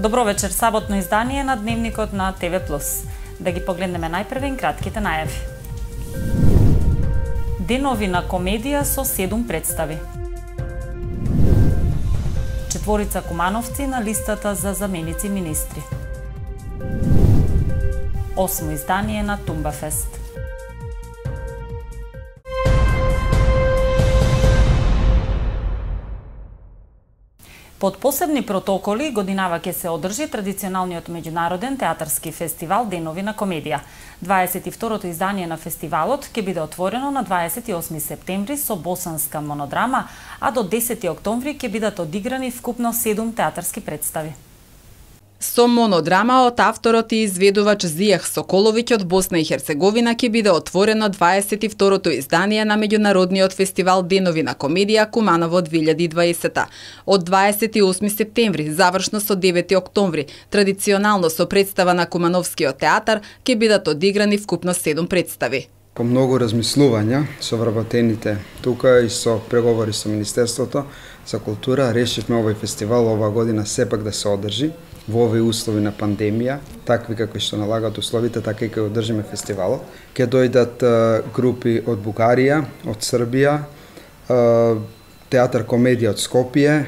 Добро вечер, саботно издание на Дневникот на ТВ+. Да ги погледнеме најпрвен кратките најави. Денови на комедија со 7 представи. Четворица кумановци на листата за заменици министри. 8 издание на Тумбафест. Под посебни протоколи годинава ќе се одржи традиционалниот меѓународен театарски фестивал Денови на комедија. 22-то издание на фестивалот ќе биде отворено на 28 септември со босанска монодрама, а до 10 октомври ќе бидат одиграни вкупно 7 театарски представи. Со монодрама од авторот и изведувач Зијах Соколовиќ од Босна и Херцеговина ќе биде отворено 22-то издание на меѓународниот фестивал Денови на комедија Куманово 2020. Од 28 септември завршно со 9 октомври, традиционално со представа на Кумановскиот театар ќе бидат одиграни вкупно 7 представи. По многу размислувања со вработените тука и со преговори со Министерството за култура решивме овој фестивал оваа година сепак да се одржи во овие услови на пандемија, такви какви што налагаат условите, така и ќе одржиме фестивалот. Ќе дојдат групи од Бугарија, од Србија, театар комедија од Скопје,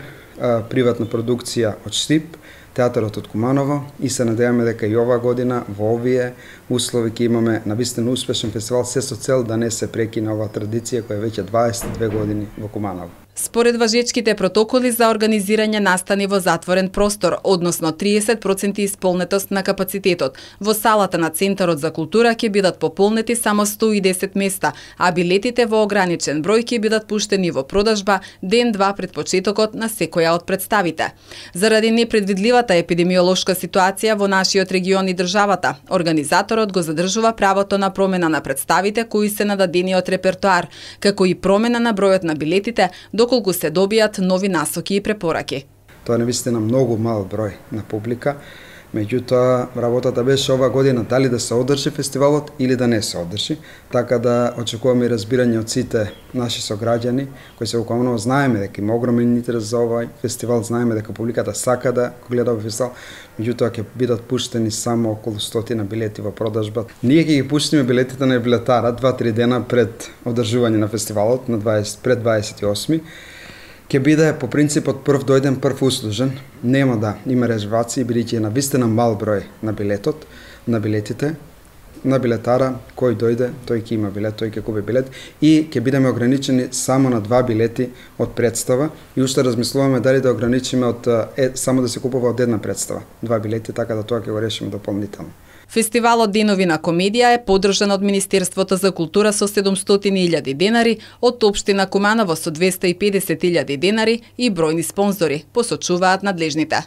приватна продукција од Штип, театарот од Куманово и се надеваме дека и оваа година во овие услови ќе имаме навистина успешен фестивал, се со цел да не се прекине оваа традиција која е веќе 22 години во Куманово. Според важечките протоколи за организирање настани во затворен простор, односно 30% исполнетост на капацитетот, во салата на Центарот за култура ќе бидат пополнети само 110 места, а билетите во ограничен број ќе бидат пуштени во продажба ден-два пред почетокот на секоја од представите. Заради непредвидливата епидемиолошка ситуација во нашиот регион и државата, организаторот го задржува правото на промена на представите кои се на дадениот репертоар, како и промена на бројот на билетите доколку се добијат нови насоки и препораки. Тоа е навистина многу мал број на публика, меѓутоа работата беше оваа година дали да се одржи фестивалот или да не се одржи, така да очекуваме разбирање од сите наши сограѓани кои се околно знаеме дека има огромен интерес за овој фестивал, знаеме дека публиката сака да го гледа овој фестивал, меѓутоа ќе бидат пуштени само околу 100 билети во продажба. Ние ќе ги пуштиме билетите на билетара 2-3 дена пред одржување на фестивалот пред 28. Ќе биде по принципот прв дојден, прв услужен. Нема да има резервации, бидејќи е навистина мал број на билетот, на билетите. На билетара, кој дојде, тој ќе има билет, тој ќе купи билет и ќе бидеме ограничени само на 2 билети од представа и уште размислуваме дали да ограничиме од само да се купува од една представа, 2 билети, така да тоа ќе го решиме дополнително. Фестивалот Денови на комедија е поддржан од Министерството за култура со 700.000 денари, од Општина Куманово со 250.000 денари и бројни спонзори, посочуваат надлежните.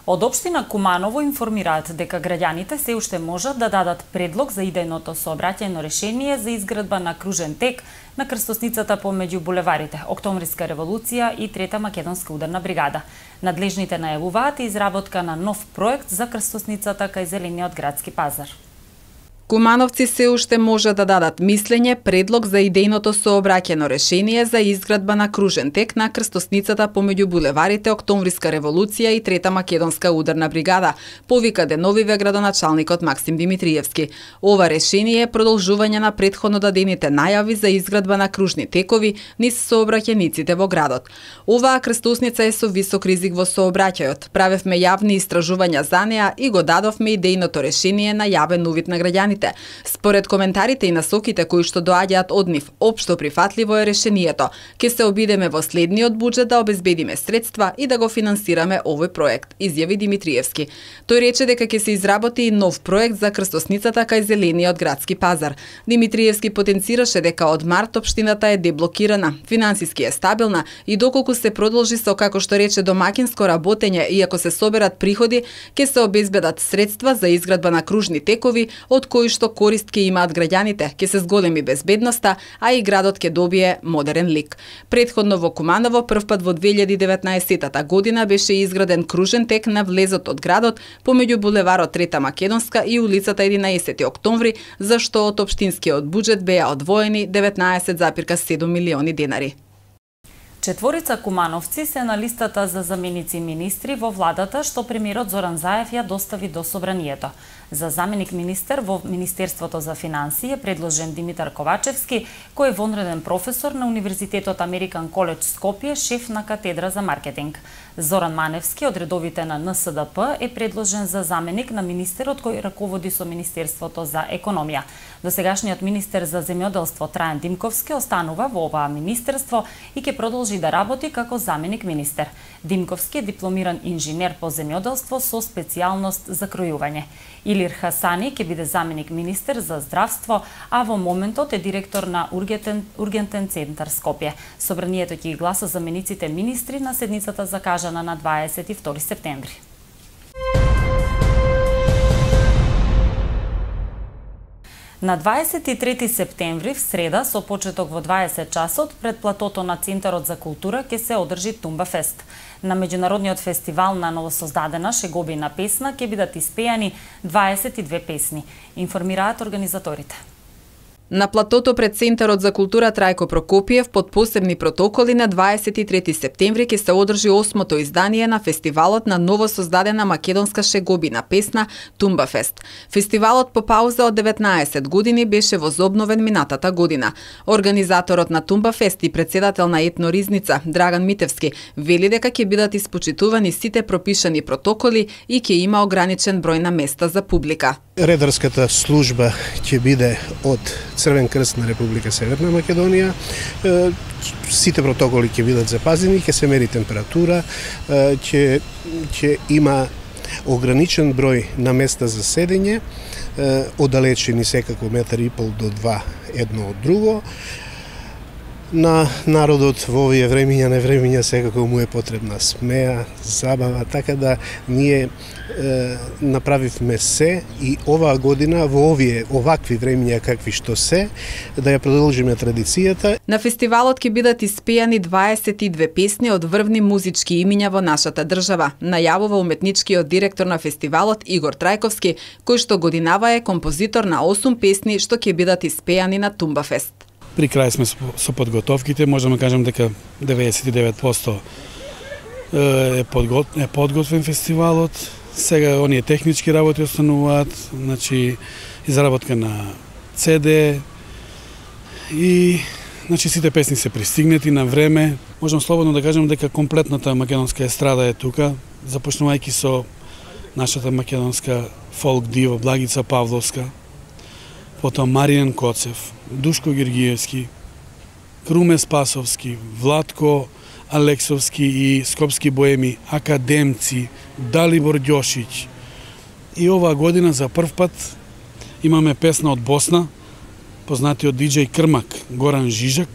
Од Општина Куманово информираат дека граѓаните се уште можат да дадат предлог за идејното сообраќајно решение за изградба на кружен тек на крстосницата помеѓу булеварите Октомвриска револуција и Трета македонска ударна бригада. Надлежните најавуваат изработка на нов проект за крстосницата кај зелениот градски пазар. Кумановци се уште може да дадат мислење, предлог за идејното сообраќајно решение за изградба на кружен тек на крстосницата помеѓу булеварите Октомвриска револуција и Трета македонска ударна бригада, повика деновиве градоначалникот Максим Димитриевски. Ова решение е продолжување на претходно дадените најави за изградба на кружни текови низ сообраќајниците во градот. Оваа крстосница е со висок ризик во сообраќајот. Правевме јавни истражувања за неа и го дадовме идејното решение на јавен увид на граѓаните. Според коментарите и насоките кои што доаѓаат од нив, општо прифатливо е решението. Ке се обидеме во следниот буџет да обезбедиме средства и да го финансираме овој проект, изјави Димитриевски. Тој рече дека ќе се изработи и нов проект за крстосницата кај зелениот градски пазар. Димитриевски потенцираше дека од март општината е деблокирана, финансиски е стабилна и доколку се продолжи со, како што рече, домакинско работење и ако се соберат приходи, ќе се обезбедат средства за изградба на кружни текови од кои што корист ќе имаат граѓаните, ќе се зголеми безбедноста, а и градот ќе добие модерен лик. Претходно во Куманово првпат во 2019 година беше изграден кружен тек на влезот од градот помеѓу булеварот Трета македонска и улицата 11 октомври, за што од општинскиот буџет беа одвоени 19,7 милиони денари. 4 кумановци се на листата за заменици министри во владата што премиерот Зоран Заев ја достави до собранието. За заменик министер во Министерството за финансии е предложен Димитар Ковачевски, кој е вонреден професор на Универзитетот Американ Коледж Скопје, шеф на катедра за маркетинг. Зоран Маневски од редовите на НСДП е предложен за заменик на министерот кој раководи со Министерството за економија. Досегашниот министер за земјоделство Трајан Димковски останува во оваа министерство и ќе продолжи да работи како заменик министер. Димковски е дипломиран инженер по земјоделство со специјалност за кројување. Илир Хасани ќе биде заменик министер за здравство, а во моментот е директор на Ургентен центар Скопје. Собранието ќе ги гласа замениците министри на седницата закажана на 22 септември. На 23 септември, в среда, со почеток во 20 часот, пред платото на Центарот за култура ќе се одржи Тумба Фест. На меѓународниот фестивал на новосоздадена шеговина песна ќе бидат испејани 22 песни, информираат организаторите. На платото пред Центарот за култура Трајко Прокопиев под посебни протоколи на 23 септември ќе се одржи 8-то издание на фестивалот на новосоздадена македонска шеговина песна Тумба Фест. Фестивалот по пауза од 19 години беше возобновен минатата година. Организаторот на Тумба Фест и председател на Етно Ризница Драган Митевски вели дека ќе бидат испочитувани сите пропишани протоколи и ќе има ограничен број на места за публика. Редарската служба ќе биде од Црвен крст на Република Северна Македонија. Сите протоколи ќе бидат запазени, ќе се мери температура, ќе има ограничен број на места за седење, оддалечени секако метар и пол до 2 едно од друго. На народот во овие времиња, невремиња, секако му е потребна смеа, забава, така да ние направивме се и оваа година во овакви времиња какви што се, да ја продолжиме традицијата. На фестивалот ќе бидат испејани 22 песни од врвни музички имиња во нашата држава, најавува уметничкиот директор на фестивалот Игор Трајковски, кој што годинава е композитор на 8 песни што ќе бидат испејани на Тумба Фест. При крај сме со подготовките, можеме да кажем дека 99% е подготвен фестивалот. Сега оние технички работи остануваат, значи изработка на CD и значи сите песни се пристигнати на време. Можам слободно да кажем дека комплетната македонска естрада е тука, започнувајќи со нашата македонска фолк дива Благица Павловска, потоа Маријан Коцев, Душко Гергиевски, Круме Спасовски, Владко Алексовски и скопски боеми, академци, Далибор Ѓошиќ. И оваа година за прв пат имаме песна од Босна, познатиот диџеј Крмак, Горан Жижак,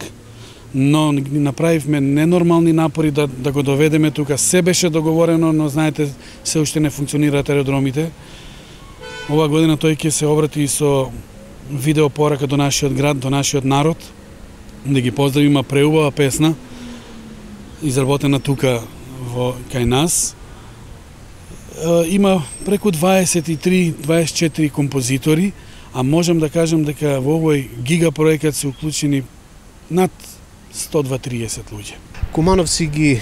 но направивме ненормални напори да го доведеме тука. Се беше договорено, но знаете, се уште не функционираат аеродромите. Оваа година тој ќе се обрати и со видео порака до нашиот град, до нашиот народ, да ги поздрави, има преубава песна, изработена тука кај нас. Има преку 23-24 композитори, а можем да кажем дека во овој гига проекат се уклучени над 120-30 луѓе. Кумановци ги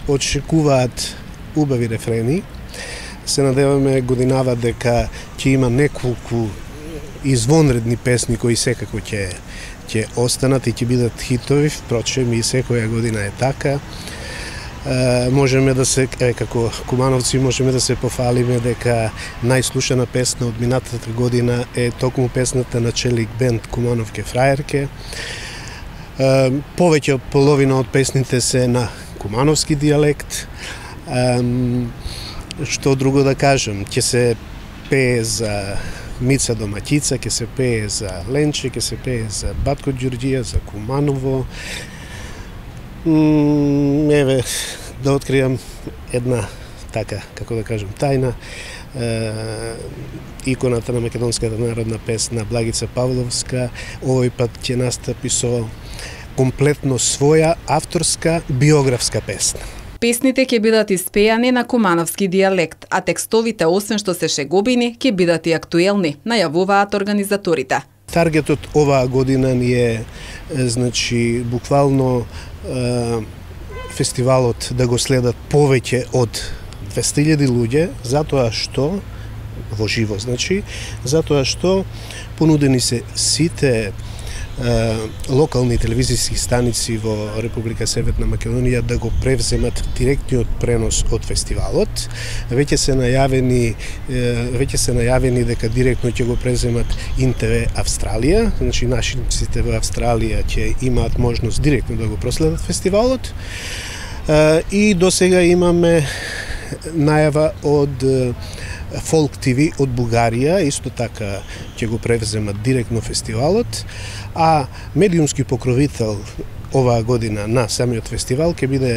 очекуваат убави рефрени. Се надеваме годинава дека ќе има неколку извонредни песни кои секако ќе останат и ќе бидат хитови, впрочем и секоја година е така. Можеме да се, како кумановци, можеме да се пофалиме дека најслушана песна од минатата година е токму песната на Челик бенд Кумановке фраерке. Повеќе од половина од песните се на кумановски дијалект. Што друго да кажем, ќе се пее за Мица домаќица, ќе се пее за Ленче, ќе се пее за Батко Ѓурѓија, за Куманово. Еве, да откријам една така, како да кажем, тајна. Иконата на македонската народна песна Благица Павловска овој пат ќе настапи со комплетно своја авторска биографска песна. Песните ќе бидат испејани на кумановски дијалект, а текстовите, освен што се шеговини, ќе бидат и актуелни, најавуваат организаторите. Таргетот оваа година ни е, значи, буквално фестивалот да го следат повеќе од 200.000 луѓе, затоа што во живо, значи, затоа што понудени се сите локални телевизиски станици во Република Северна Македонија да го превземат директниот пренос од фестивалот. Веќе се најавени дека директно ќе го преземат ИНТВ Австралија, значи нашите во Австралија ќе имаат можност директно да го проследат фестивалот. И до сега имаме најава од Folk TV од Бугарија, исто така ќе го превземат директно фестивалот, а медиумски покровител оваа година на самиот фестивал ќе биде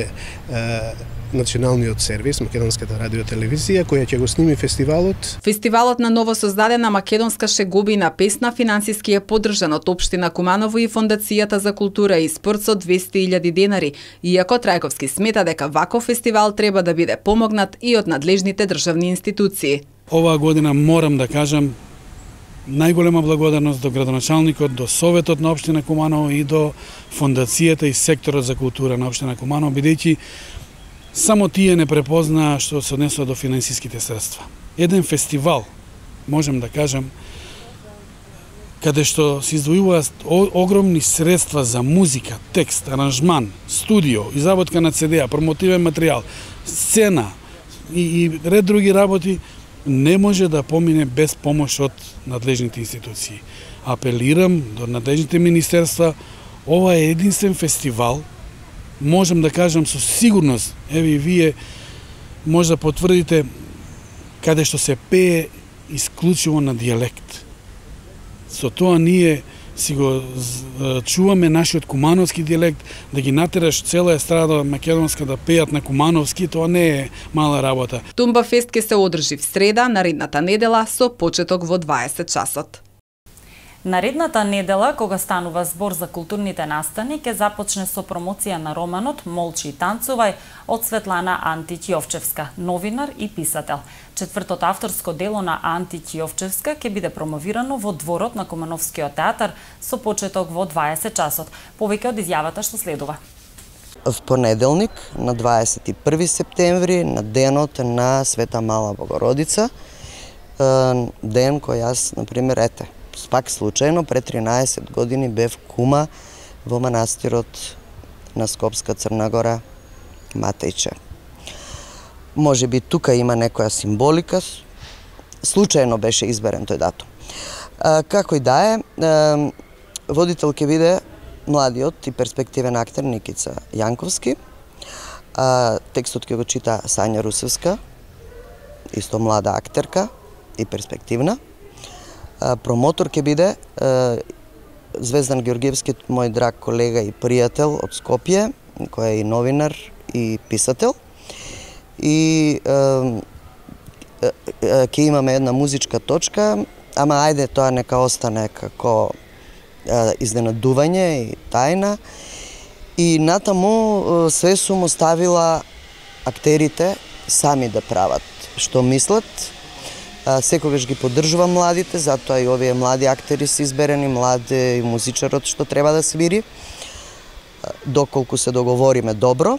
националниот сервис, Македонската радиотелевизија, која ќе го сними фестивалот. Фестивалот на новосоздадена македонска шеговина песна финансиски е поддржан од Општина Куманово и Фондацијата за култура и спорт со 200.000 денари, иако Трајковски смета дека ваков фестивал треба да биде помогнат и од надлежните државни институции. Оваа година морам да кажам најголема благодарност до градоначалникот, до Советот на Општина Куманово и до Фондацијата и секторот за култура на Општина Куманово, бидејќи само тие не препознаа што се однесува до финансиските средства. Еден фестивал, можем да кажам, каде што се издвојуваат огромни средства за музика, текст, аранжман, студио, изработка на CD-а, промотивен материјал, сцена и ред други работи, не може да помине без помош од надлежните институции. Апелирам до надлежните министерства, ова е единствен фестивал, можем да кажам со сигурност, еве и вие може да потврдите, каде што се пее исклучиво на дијалект. Со тоа ние си го чуваме нашиот кумановски дијалект, да ги натераш цела естрада македонска да пеат на кумановски, тоа не е мала работа. Тумба фест ќе се одржи в среда, наредната недела, со почеток во 20 часот. Наредната недела, кога станува збор за културните настани, ќе започне со промоција на романот "Молчи и танцувај" од Светлана Антич Јовчевска, новинар и писател. Четвртото авторско дело на Антич Јовчевска ќе биде промовирано во дворот на Кумановскиот театар со почеток во 20 часот. Повеќе од изјавата што следува. В понеделник, на 21 септември, на денот на Света Мала Богородица, ден кој јас, например, пак случајно, пред 13 години бев кума во манастирот на Скопска Црна Гора, Матејче. Може би тука има некоја символика, случајно беше изберен тој датум. Како и да е, водител ќе биде младиот и перспективен актер Никица Јанковски, текстот ќе го чита Сања Русевска, исто млада актерка и перспективна. Промотор ќе биде Звездан Георгиевски, мој драг колега и пријател од Скопје, кој е и новинар и писател. И ќе имаме една музичка точка, ама ајде тоа нека остане како изненадување и тајна. И натаму све сум оставила актерите сами да прават што мислат. Секогаш ги поддржувам младите, затоа и овие млади актери се изберени, млади музичарот што треба да свири, доколку се договориме добро.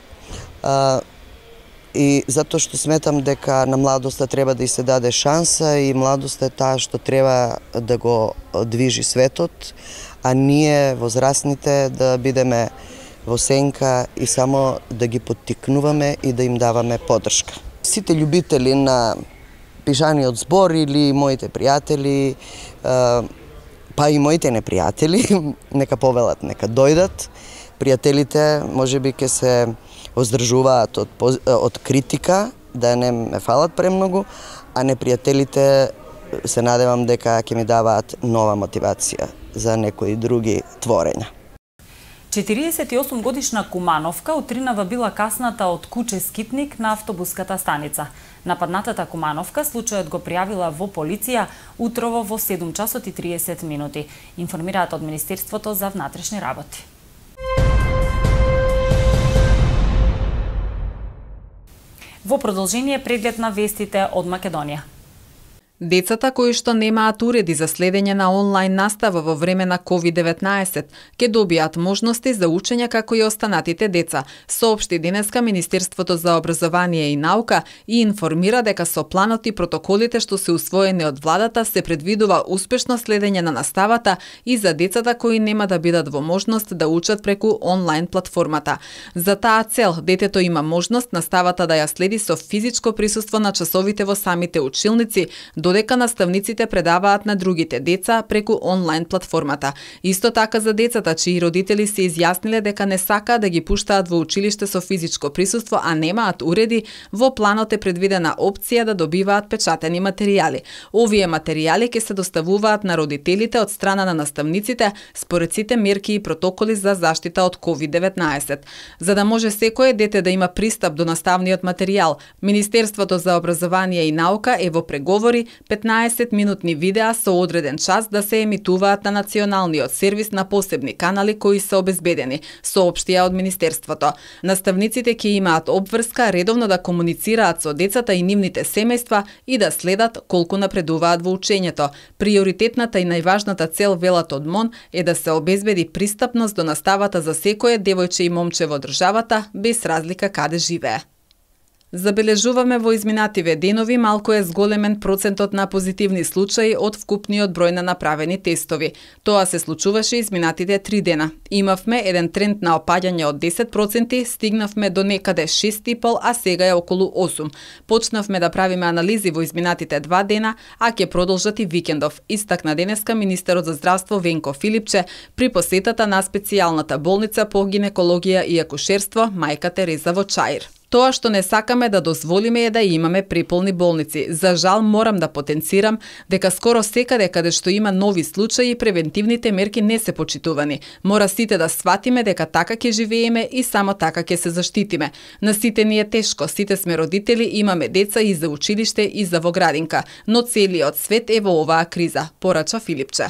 И затоа што сметам дека на младоста треба да и се даде шанса и младоста е таа што треба да го движи светот, а ние, возрастните, да бидеме во сенка и само да ги поттикнуваме и да им даваме поддршка. Сите љубители на пишаниот збор или моите пријатели, па и моите непријатели, нека повелат, нека дојдат. Пријателите можеби ќе се воздржуваат од критика, да не ме фалат премногу, а непријателите се надевам дека ќе ми даваат нова мотивација за некои други творења. 48 годишна Кумановка утринава била касната од куче скитник на автобуската станица. Нападнатата Кумановка случајот го пријавила во полиција утрово во 7 часот и 30 минути, информираат од Министерството за внатрешни работи. Во продолжение преглед на вестите од Македонија. Децата кои што немаат уреди за следење на онлайн настава во време на COVID-19 ќе добијат можности за учење како и останатите деца, соопшти денеска Министерството за образование и наука и информира дека со планот и протоколите што се усвоени од владата се предвидува успешно следење на наставата и за децата кои нема да бидат во можност да учат преку онлайн платформата. За таа цел детето има можност наставата да ја следи со физичко присуство на часовите во самите училници, додека наставниците предаваат на другите деца преку онлайн платформата. Исто така за децата чии родители се изјасниле дека не сакаат да ги пуштаат во училиште со физичко присуство, а немаат уреди, во планот е предвидена опција да добиваат печатени материјали. Овие материјали ќе се доставуваат на родителите од страна на наставниците според сите мерки и протоколи за заштита од COVID-19. За да може секое дете да има пристап до наставниот материјал, Министерството за образование и наука е во преговори 15-минутни видеа со одреден час да се емитуваат на националниот сервис на посебни канали кои се обезбедени, соопштија од Министерството. Наставниците ќе имаат обврска редовно да комуницираат со децата и нивните семејства и да следат колку напредуваат во учењето. Приоритетната и најважната цел, велат од МОН, е да се обезбеди пристапност до наставата за секое девојче и момче во државата, без разлика каде живее. Забележуваме во изминативе денови малку е зголемен процентот на позитивни случаи од вкупниот број на направени тестови. Тоа се случуваше изминатите 3 дена. Имавме еден тренд на опаѓање од 10%, стигнавме до некаде 6,5, а сега е околу 8. Почнавме да правиме анализи во изминатите 2 дена, а ќе продолжат и викендов, истакна денеска министерот за здравство Венко Филипче при посетата на специјалната болница по гинекологија и акушерство Мајка Тереза во Чаир. Тоа што не сакаме да дозволиме е да имаме преполни болници. За жал морам да потенцирам дека скоро секаде каде што има нови случаи превентивните мерки не се почитувани. Мора сите да сватиме дека така ќе живееме и само така ќе се заштитиме. На сите ни е тешко, сите сме родители, имаме деца и за училиште и за во градинка, но целиот свет е во оваа криза, порача Филипче.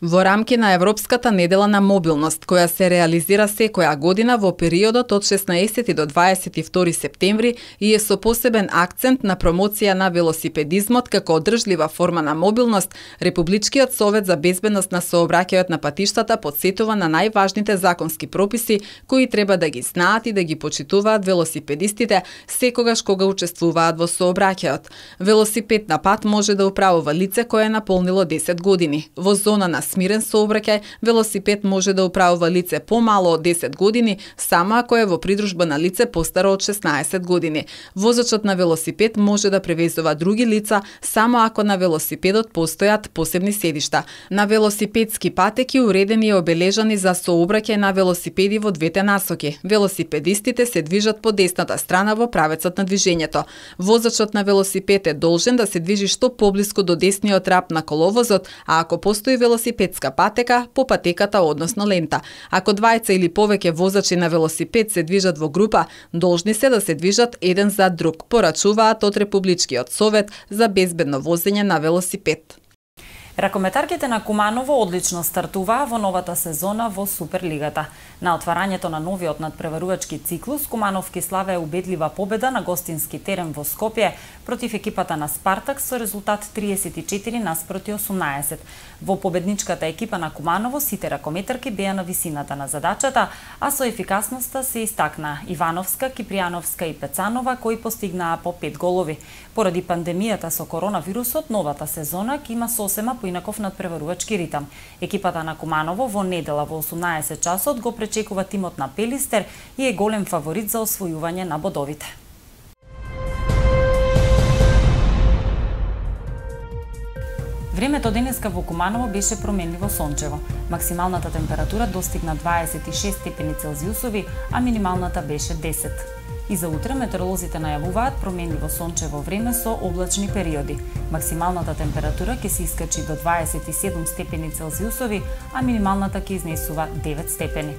Во рамки на Европската недела на мобилност, која се реализира секоја година во периодот од 16 до 22 септември и е со посебен акцент на промоција на велосипедизмот како одржлива форма на мобилност, Републичкиот совет за безбедност на сообраќајот на патиштата потсетува на најважните законски прописи кои треба да ги знаат и да ги почитуваат велосипедистите секогаш кога учествуваат во сообраќајот. Велосипед на пат може да управува лице кое е наполнило 10 години. Во зона на смирен сообраќај, велосипед може да управува лице помало од 10 години, само ако е во придружба на лице постаро од 16 години. Возачот на велосипед може да превезува други лица само ако на велосипедот постојат посебни седишта. На велосипедски патеки уредени и обележани за сообраќај на велосипеди во двете насоки. Велосипедистите се движат по десната страна во правецот на движењето. Возачот на велосипед е должен да се движи што поблиску до десниот рап на коловозот, а ако постои велосипедска патека, по патеката односно лента. Ако двајца или повеќе возачи на велосипед се движат во група, должни се да се движат еден за друг, порачуваат од Републичкиот совет за безбедно возење на велосипед. Ракометарките на Куманово одлично стартуваа во новата сезона во Суперлигата. На отварањето на новиот надпреварувачки циклус, Кумановки славе убедлива победа на гостински терен во Скопје против екипата на Спартак со резултат 34-18. Во победничката екипа на Куманово сите ракометарки беа на висината на задачата, а со ефикасноста се истакна Ивановска, Кипријановска и Пецанова кои постигнаа по 5 голови. Поради пандемијата со коронавирусот, новата сезона ќе има сосема поинаков надпреварувачки ритам. Екипата на Куманово во недела во 18 часот го пречекува тимот на Пелистер и е голем фаворит за освојување на бодовите. Времето денеска во Куманово беше променливо сончево. Максималната температура достигна 26 степени Целзиусови, а минималната беше 10. И за утре метеоролозите најавуваат променливо сончево време со облачни периоди. Максималната температура ќе се искачи до 27 степени Целзиусови, а минималната ќе изнесува 9 степени.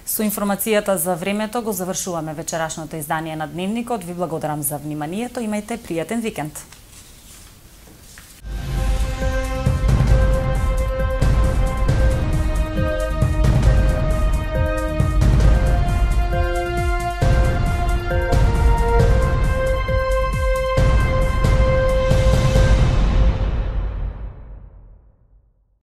Со информацијата за времето го завршуваме вечерашното издание на Дневникот. Ви благодарам за вниманието. Имајте пријатен викенд.